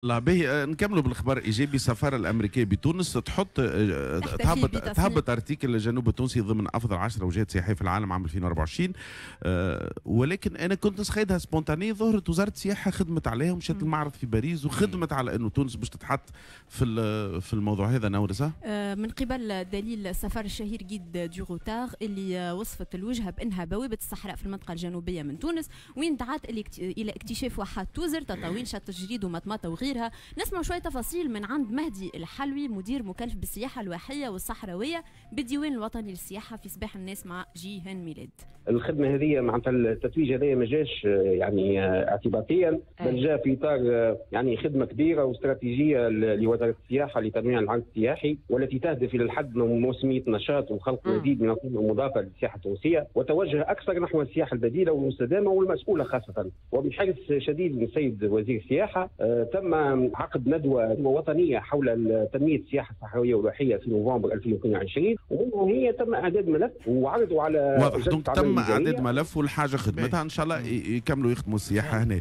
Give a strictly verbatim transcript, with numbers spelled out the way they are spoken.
لا به، نكملوا بالخبر الايجابي. السفارة الامريكية بتونس تحط تهبط تهبط article الجنوب التونسي ضمن افضل عشرة وجهات سياحية في العالم عام ألفين وأربعة وعشرين. أه ولكن انا كنت نسخيدها spontanée، ظهرت وزارة السياحة خدمت عليها ومشات المعرض في باريس وخدمت على انه تونس باش تتحط في في الموضوع هذا. نورسه من قبل دليل السفر الشهير Guide du Routard اللي وصفت الوجهة بانها بوابه الصحراء في المنطقة الجنوبية من تونس، وين دعت الى اكتشاف واحات توزر، تطاوين، شط الجريد ومطماطه وغيرها. نسمع شوية تفاصيل من عند مهدي الحلوي، مدير مكلف بالسياحة الواحيه والصحراويه بالديوان الوطني للسياحة، في صباح الناس مع جيهان ميلاد. الخدمة هذه معناتها التتويج هذا ما جاش يعني اعتباطيا، بل جاء في اطار يعني خدمة كبيرة واستراتيجيه لوزارة السياحة لتنويع العرض السياحي، والتي تهدف الى الحد من موسميه النشاط وخلق مزيد من القيمة المضافة للسياحة التونسية، وتوجه اكثر نحو السياحة البديلة والمستدامه والمسؤوله خاصة. وبحرص شديد من السيد وزير السياحة تم عقد ندوه وطنية حول تنمية السياحة الصحراوية والواحيه في نوفمبر ألفين واثنين وعشرين، وهي تم اعداد ملف وعرضوا على واضح. تم اعداد ملف والحاجة خدمتها، ان شاء الله يكملوا يخدموا السياحة هنا.